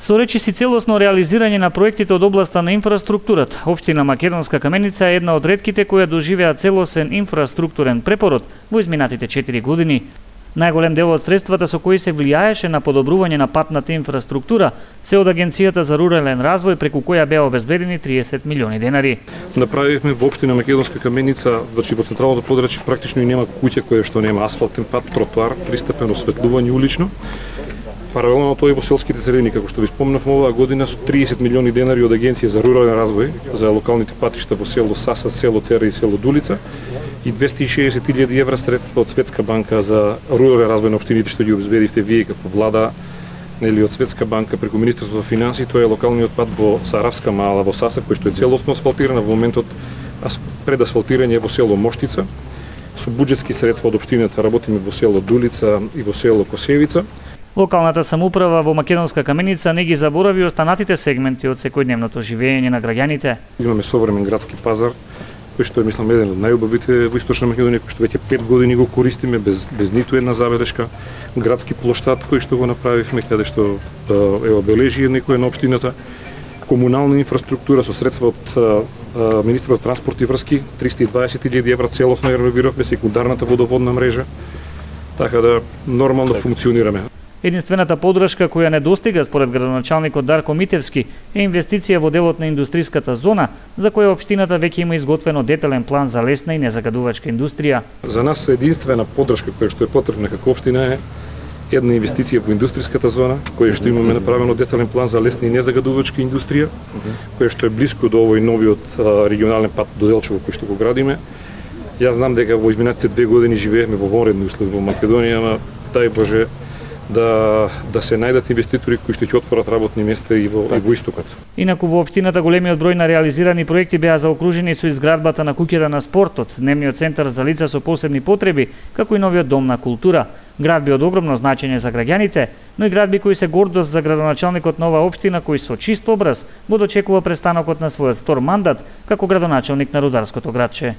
Со речиси целосно реализирање на проектите од областа на инфраструктурата, општина Македонска Каменица е една од ретките која доживеа целосен инфраструктурен препород во изминатите 4 години. Најголем дел од средствата со кои се влијаеше на подобрување на патната инфраструктура се од Агенцијата за рурален развој, преку која беа обезбедени 30 милиони денари. Направивме во општина Македонска Каменица, значи во централното подрачје практично и нема куќа која што нема асфалтен пат, тротоар, пристапено осветлување улично. Паралелно на тоа и во селските средини, како што ви спомнавме, оваа година со 30 милиони денари од Агенција за рурален развој за локалните патишта во село Саса, село Цера и село Дулица и 260.000 евра средства од Светска банка за рурален развој на општините што ги обезбедивте вие како влада, нели од Светска банка преку Министерството за финансии. Тоа е локалниот пат во Саравска мала во Саса, кој што е целосно асфалтиран во моментот пред асфалтирање во село Моштица. Со буџетски средства од општината работиме во село Дулица и во село Косевица. Локалната самоуправа во Македонска Каменица не ги заборави останатите сегменти од секојдневното живење на граѓаните. Имаме современ градски пазар, кој што е, мислам, еден од најубавите во Источна Македонија, кој што веќе 5 години го користиме без ниту една забелешка. Градски плоштад кој што го направивме, каде што е обележие некој на општината. Комунална инфраструктура со средства од Министерството за транспорт и врски, 320.000 евра целосно реновиравме секундарната водоводна мрежа, така да нормално функционираме. Единствената подршка која не достига според градоначалникот Дарко Митевски е инвестиција во делот на индустриската зона, за која општината веќе има изготвено детален план за лесна и незагадувачка индустрија. За нас единствена подршка која што е потребна како општина е една инвестиција во индустриската зона, која што имаме направено детален план за лесна и незагадувачка индустрија, која што е блиску до овој новиот регионален пат до Делчево кој што го градиме. Јас знам дека во изминатите 2 години живеевме во вонредни услови во Македонија, ама дај Боже да се најдат инвеститори кои што ќе отворат работни места и во истокот. Инаку во општината големиот број на реализирани проекти беа заокружени со изградбата на куќата на спортот, дневниот центар за лица со посебни потреби, како и новиот дом на култура. Градби од огромно значење за граѓаните, но и градби кои се гордост за градоначалникот на оваа општина, кој со чист образ го дочекува престанокот на својот втор мандат како градоначалник на рударското градче.